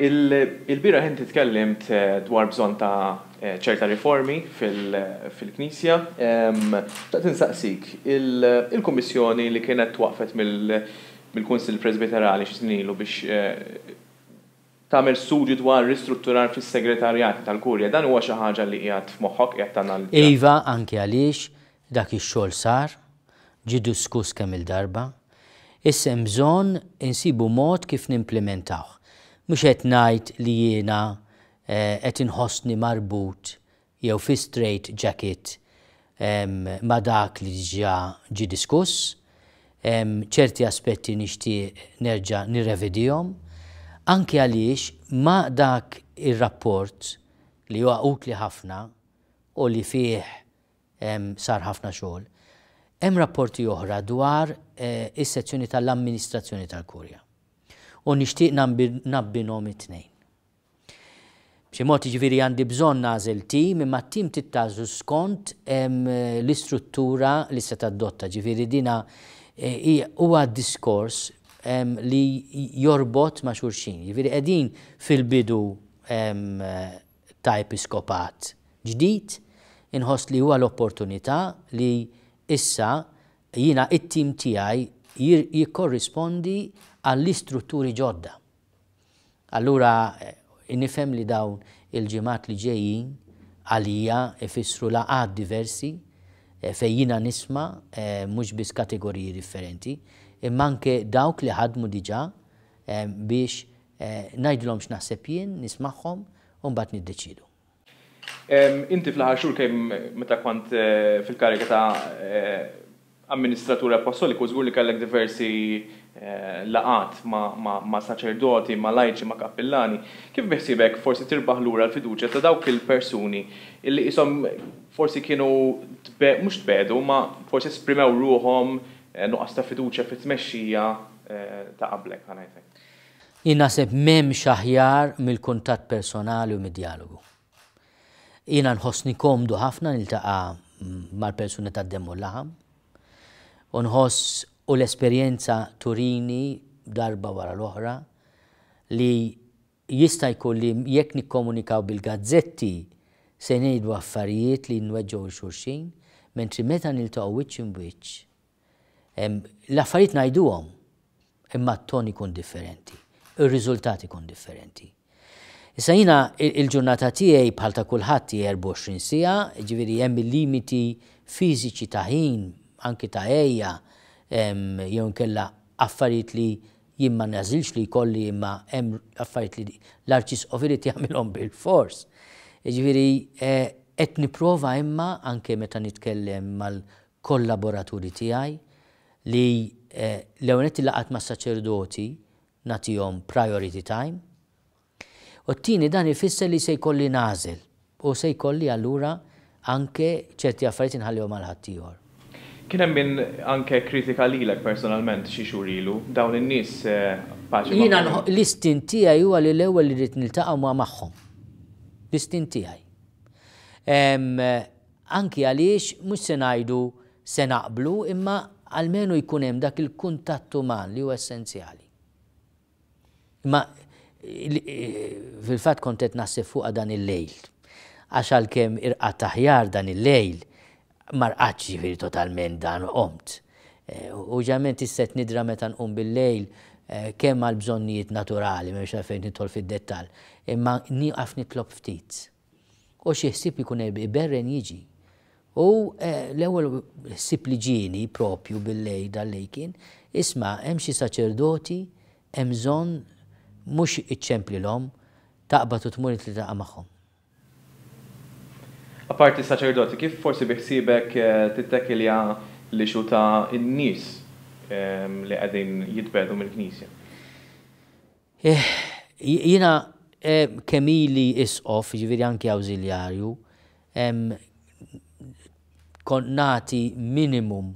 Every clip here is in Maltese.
Il-bieraħ inti tkellimt dwar bżonn ta' ċerta riformi fil-Knisja. Xtaqt insaqsik, il-Kummissjoni li kienet twaqqfet mill-Kunsill Presbiterali xi snin ilu biex tagħmel studju dwar ristrutturar fis-segretarjati tal-Kurja, dan huwa xi ħaġa li qiegħed f'moħħok, qiegħed tanalizza? Iva, anke għaliex dak ix-xogħol sar, ġie diskuss kemm-il darba. Issa hemm bżonn insibu mod kif nimplimentawh. Mhux qed ngħid li jiena qed inħossni marbut jew fi straight jacket ma' dak li diġà ġie diskuss. Ċerti aspetti nixtieq nerġa' nirrevedihom, anke għaliex ma' dak ir-rapport li huwa utli ħafna u li fih sar ħafna xogħol, hemm rapporti oħra dwar is-sezzjoni tal-amministrazzjoni tal-Kurja. U nixtieq nabbinhom it-tnejn. B'xi mod jiġifieri għandi bżonn nagħżel tim, imma t-tim trid tagħżlu skont l-istruttura li se tadotta. Ġifieri dina huwa diskors li jorbot ma' xulxin. Jiġifieri qegħdin fil-bidu ta' episkopat ġdid, inħoss li huwa l-opportunità li issa jiena it-tim tiegħi jikkorrispondi għall-istrutturi ġodda. Allura nifhem li dawn il-ġimgħat li ġejjin għalija ifissru laqgħat diversi fejn jiena nisma' mhux biss kategoriji differenti, imma anke dawk li ħadmu diġà biex ngħidilhom x'naħseb jien, nismagħhom u mbagħad niddeċiedu. Inti fl-aħħar xhur kemm meta kont fil-kariga ta' amministratur appostoliku żgur li kellek diversi laqgħat ma' saċerdoti, ma' lajċi, ma' kappillani. Kif biħsiebek forsi tirbaħ lura l-fiduċja ta' dawk il-persuni illi qishom forsi kienu mhux tbiegħdu imma forsi esprimew ruħhom nuqqas ta' fiduċja fit-tmexxija ta' qablek, ħa ngħid hekk? Jien naħseb m'hemmx aħjar mill-kuntatt personali u mid-djalogu. Jiena nħossni komdu ħafna niltaqa' mal-persuni tad-demm u l-laħam u nħoss u l-esperjenza turini darba wara l-oħra li jista' jkun li jekk nikkomunikaw bil-gazzetti se ngħidu affarijiet li nweġġgħu 'l xulxin, mentri meta niltaqgħu wiċċ imb'wiċċ L-affarijiet ngħiduhom, imma t-ton ikun differenti, ir-riżultat ikun differenti. Issa jiena il-ġurnata tiegħi bħal ta' kulħadd hi 24 siegħa, jiġifieri hemm il-limiti fiżiċi ta' ħin, anki ta' għejja, jew inkella affarijiet li jien ma nagħżilx li jkolli imma hemm affarijiet li l-Arċisqof irid jagħmilhom bilfors. Jiġifieri qed nipprova imma anke meta nitkellem mal kollaboraturi tiegħi li l-ewwel nett il-laqgħat mas-saċerdoti nagħtihom priority time u t-tieni dan ifisser li se jkolli nagħżel u se jkolli allura anke ċerti affarijiet inħallihom għal ħaddieħor. Kien hemm min anke kkritika lilek personalment xi xhur ilu. Dawn in-nies paċi magħhom? Jiena l-istint tiegħi huwa li l-ewwel irrid niltaqa' ma' magħhom. L-istint tiegħi. Anki għaliex mhux se ngħidu se naqblu imma almenu jkun hemm dak il-kuntatt uman li huwa essenzjali. Imma fil-fatt kont qed naħseb fuqha dan il-lejl. Għax għalkemm irqadt aħjar dan il-lejl, ma rqadtx ġifieri totalment dan u qomt. U ġeneralment issa qed nidra meta nqum bil-lejl kemm għal bżonnijiet naturali, m'hemmx għalfejn nidħol fid-dettall, imma nieqaf nitlob ftit. U xi ħsieb ikun iberren jiġi. U l-ewwel ħsieb li ġieni propju bil-lejl dal-lejl kien, isma' hemm xi saċerdoti hemm bżonn mhux iċċemplilhom, taqbad u tmur int tiltaqa' magħhom. Apparti s-saċerdoti, kif forsi bi ħsiebek tittekilja l-issue ta' n-nies li qegħdin jitbiegħdu mill-Knisja? Jiena kemm ili isqof, jiġifieri anki awżiljarju, kont nagħti minimum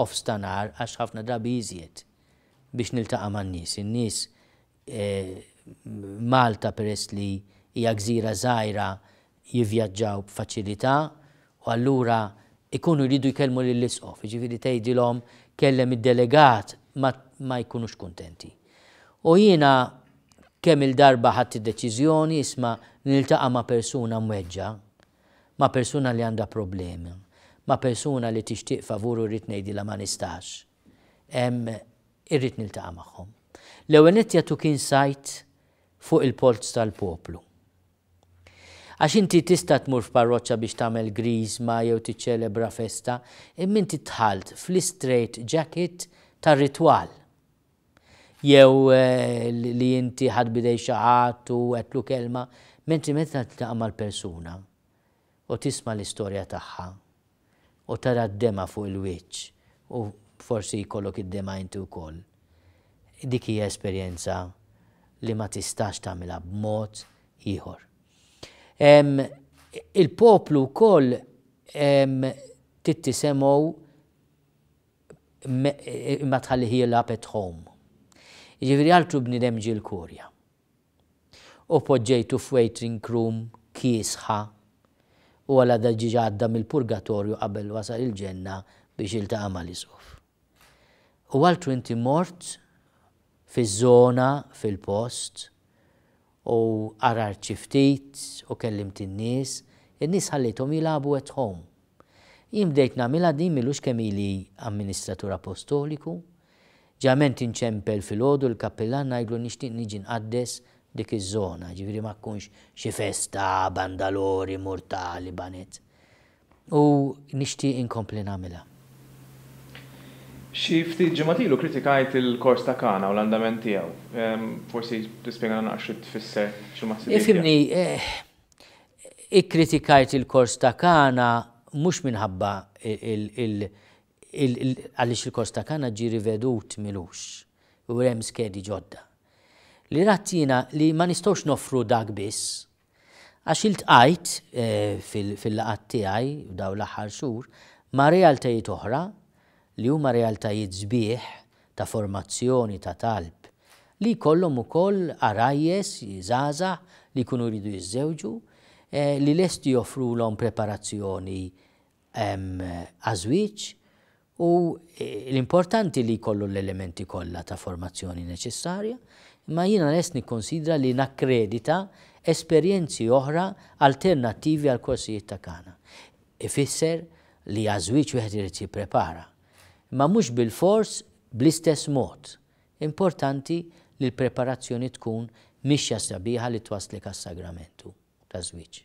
offs ta' nhar għax ħafna drabi iżjed biex niltaqa' man-nies. In-nies Malta peress li hija gżira żgħira jivvjaġġaw b'faċilità u allura jkunu jridu jkellmu lill-Isqof, jiġifieri tgħidilhom kellem id-delegat ma ma jkunux kuntenti. U jiena Kemm-il darba ħadt id-deċiżjoni, isma' niltaqa' ma' persuna mweġġa', ma' persuna li għandha problema, ma' persuna li tixtieq favur u rrid ngħidilha ma nistax. Irrid niltaqa' magħhom. L-ewwel nett jagħtuk insight fuq il-polz tal-poplu. Għax inti tista' tmur f'parroċċa biex tagħmel griżma jew tiċċelebra festa, imma inti dħalt fl-istraight jacket tar-ritwal. Jew li inti ħadt b'idejn xi ħadd u għedtlu kelma, mentri meta tiltaqa' mal-persuna u tisma' l-istorja tagħha u tara d-demgħa fuq il-wiċċ u forsi jkollok id-demgħa inti wkoll, dik hija esperjenza li ma tistax tagħmilha b'mod ieħor. Il-poplu wkoll trid tisemgħu imma tħallih jilgħab at home. Jiġifieri altru bniedem ġie l-Kurja. U poġġejtu f'waiting room kiesħa u għala da ġiġa għadda mill-purgatorju qabel wasal il-ġenna biex jiltaqa' mal-Isqof. U altru inti mort fiż-żona, fil-post, u għarart xi ftit u kellimt in-nies, in-nies ħallejthom jilagħbu at home. Jien bdejt nagħmilha din m'ilux kemm ili amministratur apostoliku. Ġeneralment inċempel filgħodu lill-kappillan ngħidlu nixtieq niġi nqaddes dik iż-żona, jiġifieri ma tkunx xi festa, bandalori, murtali, baned. U nixtieq inkompli nagħmilha. Xi ftit ġimgħat ilu kritikajt il-kors ta' Kana u l-andament tiegħu. Forsi tispjegana naqra xi tfisser, x'inhuma ħsibijiet tiegħek. Ifhimni, ikkritikajt il-kors ta' Kana mhux minħabba għaliex il-kors ta' Kana ġie rivedut m'ilux u hemm skedi ġodda. Li radt jiena li ma nistgħux noffru dak biss. Għax iltqajt fil-laqgħat tiegħi f'dawn l-aħħar xhur ma' realtajiet oħra li huma realtajiet sbieħ ta' formazzjoni ta' talb li jkollhom ukoll għarajjes żgħażagħ li jkunu jridu jiżżewġu li lesti joffrulhom preparazzjoni għaż-żwieġ u l-importanti li jkollu l-elementi kollha ta' formazzjoni neċessarja, imma jiena lest nikkonsidra li nakkredita esperjenzi oħra alternattivi għall-korsijiet ta' Kana. Ifisser li għaż-żwieġ wieħed irid jipprepara, imma mhux bilfors bl-istess mod. Importanti li l-preparazzjoni tkun mixja sabiħa li twasslek għas-sagramentu taż-żwieġ.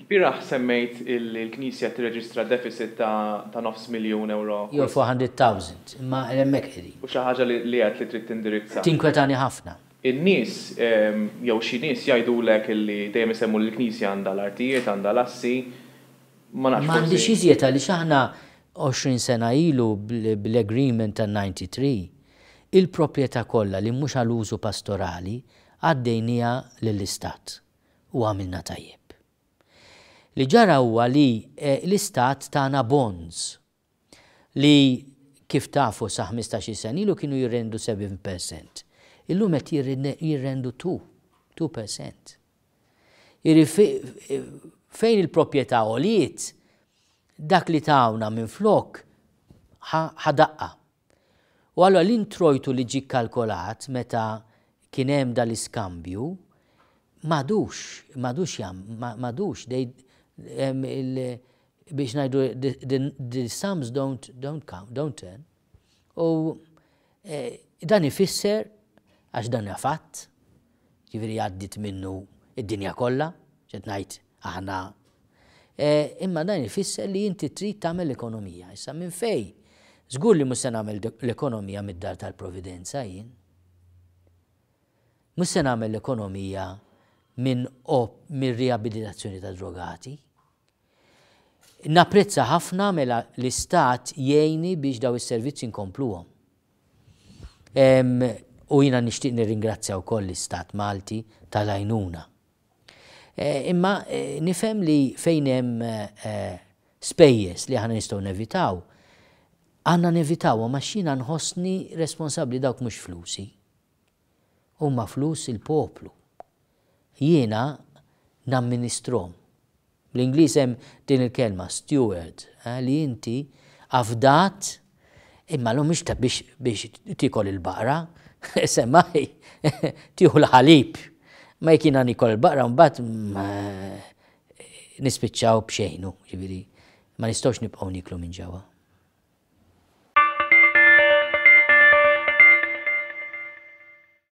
Ilbieraħ semmejt illi l-Knisja tirreġistra deficit ta' nofs miljun ewro kull. Jew 400,000, imma hemmhekk qegħdin. U xi ħaġa li għedt li trid tindirizza. Tinkwetani ħafna. In-nies, jew xi nies jgħidulek illi dejjem isemmu li l-Knisja għandha l-artijiet, għandha l-assi. Ma nafx forsi. M'għandhiex iżjed għaliex aħna 20 sena ilu bl-agreement tan-93, il-proprjetà kollha li mhux għal użu pastorali għaddejniha lill-Istat. U għamilna tajjeb. Li ġara huwa li l-Istat tana bonds li kif tafu sa 15-il sena ilu kienu jirrendu 7%. Illum qed jirrendu 2, 2%. Jiġifieri fejn il-proprjetà għoliet, dak li tawna minflok ħa daqqa. U allura l-introjtu li ġie kkalkolat meta kien hemm dal-iskambju m'għadux, m'għadux jam, m'għadux, they, biex ngħidu the sums don't, don't count, don't turn. U dan ifisser, għax dan huwa fatt, Jiġifieri għaddiet minnu d-dinja kollha, x'qed ngħid aħna. Imma dan ifisser li inti trid tagħmel l-ekonomija. Issa minn fejn? Żgur li mhux se nagħmel l-ekonomija mid-dar tal-Providenza jien. Mhux se nagħmel l-ekonomija minn mir-riabilitazzjoni ta' drogati. Napprezza ħafna mela l-Istat jgħinni biex daw is-servizzi nkompluhom. U jiena nixtieq nirringrazzja wkoll l-Istat Malti tal-għajnuna. Imma nifhem li fejn hemm spejjeż li aħna nistgħu nevitaw, għandna nevitawhom għax jiena nħossni responsabbli dawk mhux flusi. Huma flus il-poplu. Jiena namministrhom. Bl-Ingliż hemm din il-kelma steward, li inti afdat imma llum mhix ta' biex biex tiekol il-baqra, Semmaj, tieħu l-ħalib. Ma jekk jiena nikol il-baqra mbagħad nispiċċaw b'xejnu, ġifieri ma nistgħux nibqgħu niklu minn ġewwa.